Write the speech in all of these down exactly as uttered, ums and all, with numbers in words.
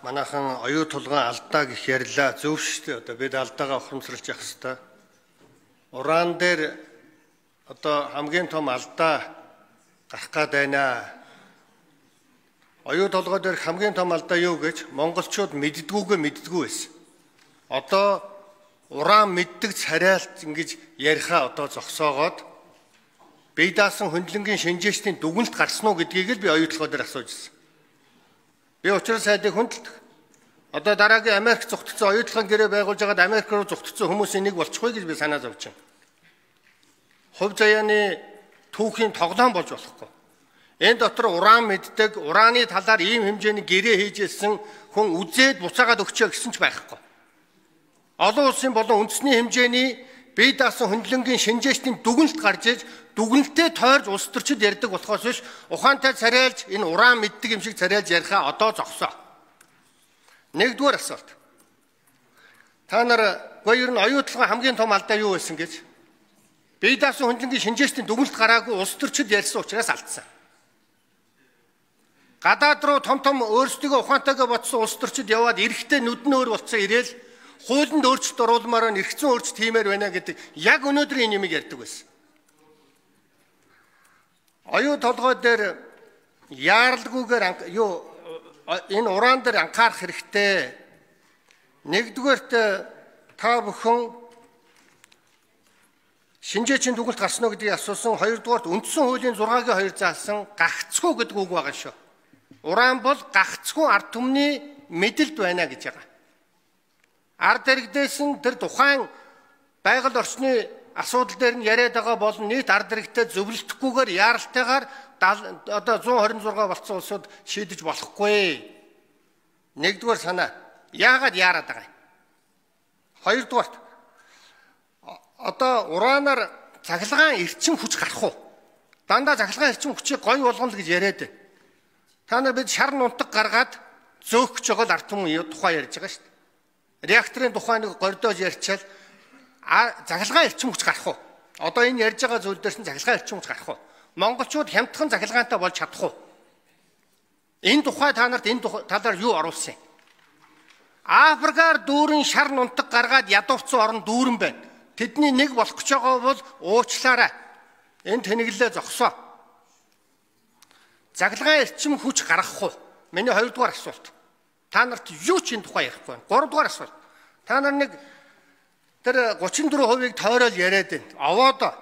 Манайхан оюу тулгын алдаа гэх ярьлаа. Зөв шүү дээ. Одоо бид алдаагаа ухамсарлаж явах хэрэгтэй. Уран дээр одоо хамгийн том алдаа гарах гээд байна. Оюу толгой дээр хамгийн том алдаа юу гэж монголчууд мэддгүйгээ мэддгүй байсан. Одоо уран мэддэг царайлт ингэж ярихаа одоо зогсоогоод бие даасан хөндлөнгийн шинжээчдийн дүгнэлт гарсан уу гэдгийг л би оюу толгой дээр асууж ирсэн. Би учраас сайдыг хүндэлдэг. Одоо дараагийн Америк зүгтгцэн оюу толгойн гэрээ байгуулж байгаад Америк руу зүгтгцэн хүмүүсийн нэг болчихгүй гэж би санаа зовж байна. Хувь заяаны түүхийн тоглоом болж болохгүй. Энэ дотор уран мэддэг, ураны талаар ийм хэмжээний гэрээ хийжсэн хүн үзээд буцаагаад өгчөө гэсэн ч байхгүй. Олон улсын болон үндэсний хэмжээний бие даасан хөндлөнгийн шинжээчдийн дүгнэлт гарч иж дүгнэлтээ тойрж улс төрчид ярьдаг болохоос биш ухаантай царайлж энэ уран мэддэг юм шиг царайлж ярихаа одоо зогсоо. Нэгдүгээр асуулт. Та нар гоо ер нь оюу толгой хамгийн том алдаа юу байсан гэж? Бие даасан хөндлөнгийн шинжээчдийн дүгнэлт гараагүй улс төрчид ярьсан учраас алдсан. Гадаад руу том том өөрсдөө ухаантайгаа бодсон улс төрчид яваад эрэхтэй нүдэн өөр болцсон ирээл хуулинд өөрчлөлт оруулмаар нь эргэцэн өөрчлөлт хиймээр байна гэдэг яг өнөөдрийн нэмийг ярьдаг байсан. Оюу толгой дээр яаралгүйгээр юу энэ уран дээр анхаарах хэрэгтэй. Нэгдүгээрт та бүхэн шинжээчийн дүгнэлт гарсан уу гэдгийг асуусан. Хоёрдугаарт үндсэн хуулийн зургаагийн хоёр заасан гагцгүй гэдэг үг байгаа шүү. Уран бол гагцгүй ард түмний мэдэлд байна гэж байгаа. Ард иргэдээс нь тэр тухайн байгаль орчны асуудал дээр нь яриад байгаа болон нийт ард иргэдэд зөвлөлтгүйгээр яаралтайгаар одоо зуун хорин зургаа болцсон улсууд шийдэж болохгүй. Нэгдүгээр санаа. Яагаад яарад байгаа юм? Хоёрдугаарт одоо ураанаар цахилгаан эрчим хүч гарах уу? Дандаа цахилгаан эрчим хүчийг гоё болгоно л гэж яриад байна. Та нар бид шар нунтаг гаргаад зөөх гэж байгаа л ард түмэн тухай ярьж байгаа шүү дээ. Реакторын тухай нэг гордоож ярьчаал захилгаан эрчим хүч гарах уу? Одоо энэ ярьж байгаа зүйл дээрс нь захилгаан эрчим хүч гарах уу? Монголчууд хямдхан захилгаантай болж чадах уу? Энэ тухай та нарт энэ талаар юу оруулсан юм? Африкаар дүүрэн шар нунтаг гаргаад ядуурцсан орн дүүрэн байна. Тэдний нэг болох гэж байгаа бол уучлаарай. Энэ тэнэглэлээ зогсоо. Захилгаан эрчим хүч гаргах уу? Миний хоёрдугаар асуулт. Та нарт юу ч энэ тухай ярихгүй байна. Гуравдугаар асуулт. Та нар нэг тэр гучин дөрвөн хувийг тойрол яриад байна. Овоодоо.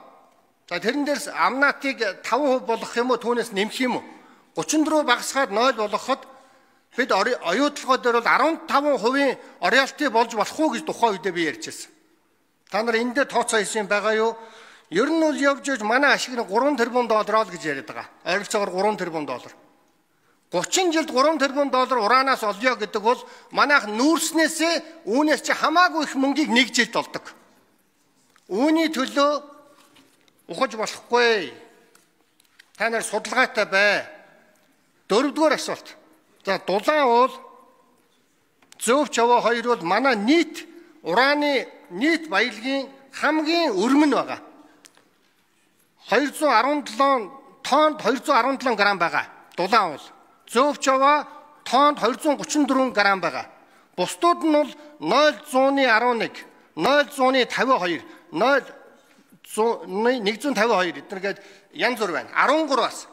За тэрэн дээрс амнаатыг таван хувь болгох юм уу, түүнээс нэмэх юм уу? гучин дөрвөн багасгаад нойл болгоход бид оюу толгой дээр бол арван таван хувийн роялти болж болох уу гэж тухайн үедээ би ярьжсэн. Та нар эндээ тооцоо хийсэн байгаа юу? Ер нь бол явж явж манай ашиг нь гурван тэрбум доллар л гэж яриад байгаа. Ойролцоогоор гурван тэрбум доллар. гучин жилд гурван тэрбум доллар ураанаас олё гэдэг бол манайх нүүрснээсээ үүнээс чи хамаагүй их мөнгийг нэг жилд олдог. Үүний төлөө ухаж болохгүй. Та нар судалгаатай бай. Дөрөвдүгээр асуулт. За дулаан уул зөв чаваа хоёр бол манай нийт ураны нийт баялагын хамгийн өрмөн байгаа. хоёр зуун арван долоо тоннд хоёр зуун арван долоо грамм байгаа. Дулаан уул. Зөв чаваа тоннд хоёр зуун гучин дөрвөн грамм байгаа. Бусдууд нь бол нойл зууны арван нэг, нойл зууны тавин хоёр, нойл нэг зуун тавин хоёр эднэргээд янз бүр байна. арван гураваас.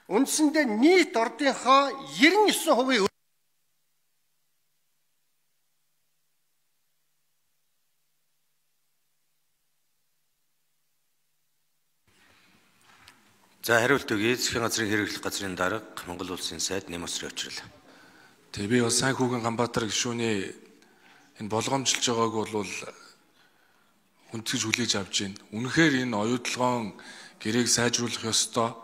Үндсэндээ нийт ордынхоо ерөн есөн хувийн За хариулт өгье. Засгийн газрын хэрэглэх газрын дарга Монгол улсын сайд Нэмосрын очрол. Тэгээ би бас сайн хүүгэн Ганбаатар гишүүний энэ болгоомжилж байгааг бол хүндэтгэж хүлээж авч байна. Үнэхээр энэ оюутлогоон гэрээг сайжруулах ёстой.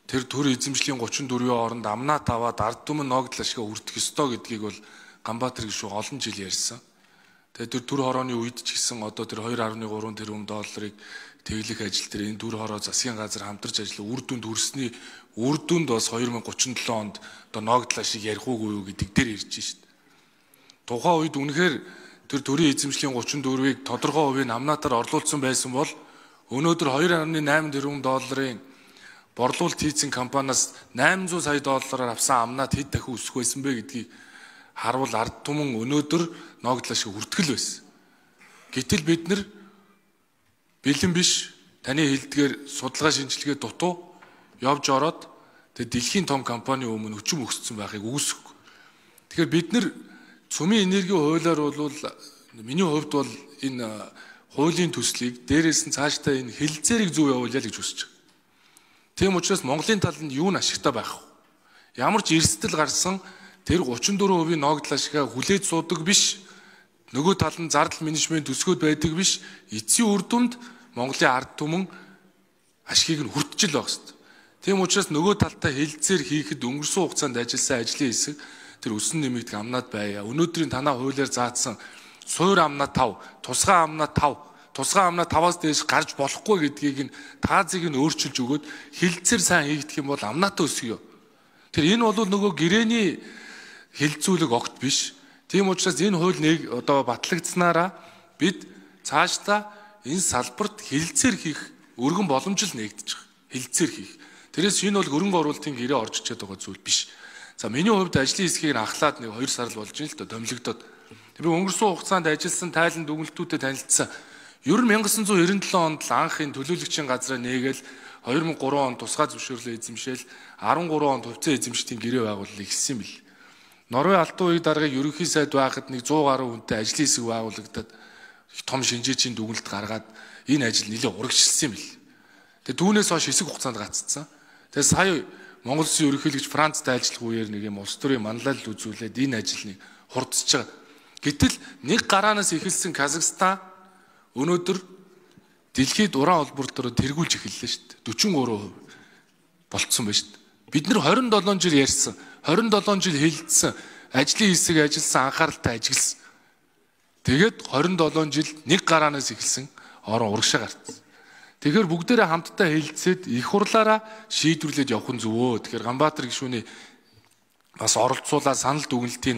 Тэр төр эзэмшлийн гучин дөрвийн оронд амнаа таваад ард түмэн ногдол ашига үрдэх ёстой гэдгийг бол Ганбаатар гишүү олон жил ярьсан. Тэгээ тэр төр хорооны үед ч гэсэн одоо тэр хоёр гаруй гурван тэрбум долларыг тэглэх ажил дээр энэ төр хороо засгийн газар хамтарч ажиллах үр дүнд хүрсний үр дүнд бас хоёр мянга гучин долоо онд одоо ногдол ашиг ярих уугүй юу гэдэг дээр ирж шít. Тухайн үед үнэхээр тэр төрийн эзэмшлийн гучин дөрвийг тодорхой хувийн амнаатаар орлуулсан байсан бол өнөөдөр хоёр гаруй найман тэрбум долларын борлуулалт хийсэн компаниас найман зуун сая доллараар авсан амнаад хэд дахин өсөх байсан бэ гэдгийг харвал ард түмэн өнөөдөр ногдлоо шиг хүртгэл байсан. Гэтэл бид нар бэлэн биш таны хэлдгээр судалгаа шинжилгээ дутуу явж ороод тэгээ дэлхийн том компани өмнө өчим өгсөн байхыг үүсэхгүй. Тэгэхээр бид нар цөмийн энерги хуулиар бол миний хувьд бол энэ хуулийн төслийг дээрээс нь цаашдаа энэ хэлэлцээрийг зөв явуулъя гэж хүсэж байна. Тийм учраас Монголын талд нь юу н ашигтай байх вэ? Ямар ч эрсдэл гарсан тэр гучин дөрвөн хувийн ногдлоо шигээ хүлээж суудаг биш. Нөгөө тал нь зардал менежмент төсгөөд байдаг биш. Эцсийн үр дүнд Монголын ард түмэн ашгийг нь хүртэж л байх хэвээр. Тийм учраас нөгөө талтай хэлэлцээр хийхэд өнгөрсөн хугацаанд ажилласан ажлын хэсэг тэр өсөн нэмэгдэх амнаад байя. Өнөөдрийн танаа хуулиар заасан суур амнаа тав, тусгай амнаа тав, тусгай амнаа таваас дээш гарч болохгүй гэдгийг нь таазыг нь өөрчилж өгөөд хэлэлцээр сайн хийгдэх юм бол амнаатаа өсгөё. Тэр энэ бол нөгөө гэрээний хэлэлцүүлэг огт биш. Тийм учраас энэ хууль нэг одоо батлагдсанараа бид цаашдаа энэ салбарт хэлэлцээр хийх өргөн боломж л нэгдэж байгаа. Хэлэлцээр хийх. Тэрээс энэ бол хөрөнгө оруулалтын гэрээ орж ичээд байгаа зүйл биш. За миний хувьд ажлын хэсгийг ахлаад нэг хоёр сар л болж байна л да томилогдоод. Би өнгөрсөн хугацаанд ажилласан тайлан дүгнэлтүүдэд танилцсан. Ер нь 천구 девяносто seven онд л анхын төлөөлөгчийн газраа нээгээл two thousand three онд тусгай зөвшөөрлөө эзэмшээл twelve онд хувьцаа эзэмшдгийн гэрээ байгуулалт ихсэн бил. Норвей алтан үеийн даргаыг ерөнхий сайд байхад нэг one hundred гаруй хүнтэй ажлын хэсэг байгуулагдаад том шинжээчийн дүгнэлт гаргаад энэ ажил нэлээд урагшилсан бил. Тэгээ түүнээс хойш хэсэг хугацаанд гаццсан. Тэгээ сая Монгол Улсын ерөнхийлөгч Францтай ажиллах үеэр нэг юм улс төрийн манлайлал үзүүлээд энэ ажилныг хурдсаж байгаа. Гэтэл нэг гараанаас эхэлсэн Казахстан өнөөдөр дэлхийд уран холбоор дээр тэргүүлж эхэллээ шүү дээ. forty-three percent болцсон байна шүү дээ. Бид нар twenty-seven жил ярьсан, twenty-seven жил хэлэлцсэн, ажлын хэсэг ажилласан, анхааралтай ажилласан. Тэгээд twenty-seven жил нэг гараанаас эхэлсэн орон урагшаа гарцсан. Тэгэхээр бүгдээрээ хамтдаа хэлэлцээд их хурлаараа шийдвэрлээд явах нь зөвөө. Тэгэхээр Ганбаатар гишүүний бас оролцуулаад санал дүгнэлтийг